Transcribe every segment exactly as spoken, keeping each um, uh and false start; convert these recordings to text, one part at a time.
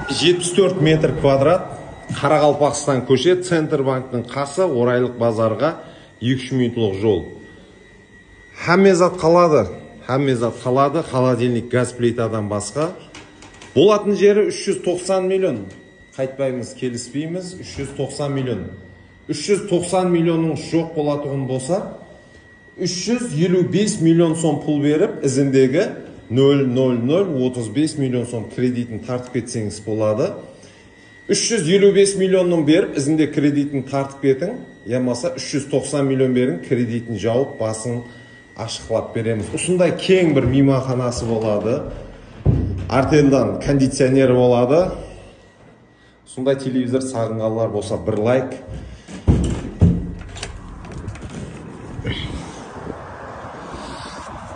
жетпіс төрт метр квадрат, Қарақалпақстан көше, Центрбанктың қасы, Орайлық базарға екі үш минутлық жол. Хаммезат қалады, Хаммезат қалады, холодильник, газ плитадан басқа. Болатын жері үш жүз тоқсан миллион. Қайтпаймыз, келіспейміз, үш жүз тоқсан миллион. үш жүз тоқсан миллионның жоқ болатығын болса, үш жүз елу бес миллион сом пұл беріп, ізіндегі нөл нөл нөл отыз бес миллион сом кредитін тартып кетсеңіз болады. үш жүз елу бес миллионның беріп, ізінде кредитін тартып кетің, ямаса үш жүз тоқсан миллион берің, кредитін жауып, басын ашықлап береміз. Осындай кең бір мейманханасы болады. Артендан кондиционері болады. Сондай телевизор сағынғандар болса бір лайк.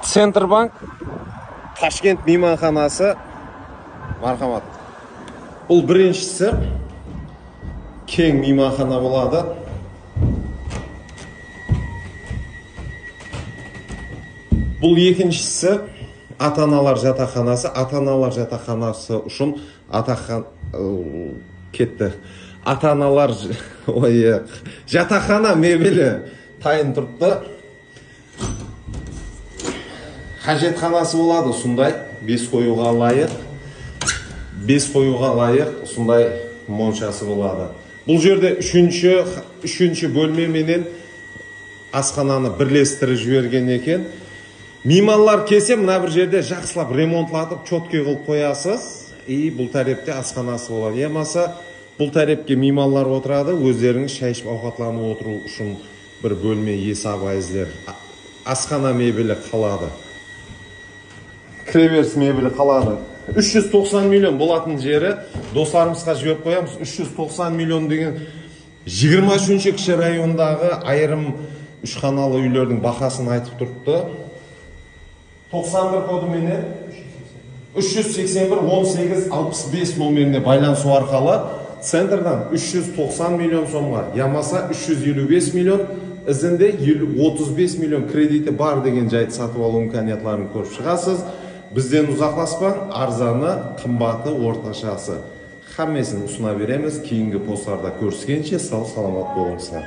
Центрбанк, Ташкент мейманханасы, мархамат. Бұл біріншісі кең мейманхана болады. Бұл екіншісі ата-аналар жатақханасы. Ата-аналар жатақханасы үшін атақан кетті. Ата-аналар жатақхана мебелі тайын тұртты. Қажетханасы болады, сондай бес қоюға лайық. Бес қоюға лайық, сондай моншасы болады. Бұл жерде үшінші, үшінші бөлмеменен асхананы бірлестіріп жіберген екен. Мейманлар келсе, мына бір жерде жақсылап ремонтлатып, чотке қылып қоясыз. И бұл тәрепте асханасы болады. Емаса бұл тәрепке мейманлар отырады, өздеріңіз шай ішіп ауқатланып отыру үшін бір бөлме есабайызлер. Асхана мебелі қалады. Кіреберіс мебелі қалады. үш жүз тоқсан миллион болатын жері достарымызға жіберіп қоямыз. үш жүз тоқсан миллион деген жиырма үшінші кіші райондағы айырым үшханалы үйлердің бағасын айтып тұрыпты. тоқсан бір кодыменен үш жүз сексен бір он сегіз алпыс бес номеріне байланысу арқылы центрдан үш жүз тоқсан миллион сомға, ямаса үш жүз елу бес миллион, ізінде отыз бес миллион кредиті бар деген жайды сатып алу имканиятларын көріп шығасыз. Бізден ұзақласпаң, арзаны, қымбаты, орташасы. Хаммесін ұсына береміз. Кейінгі посттарда көріскенше сау саламат болыңыздар.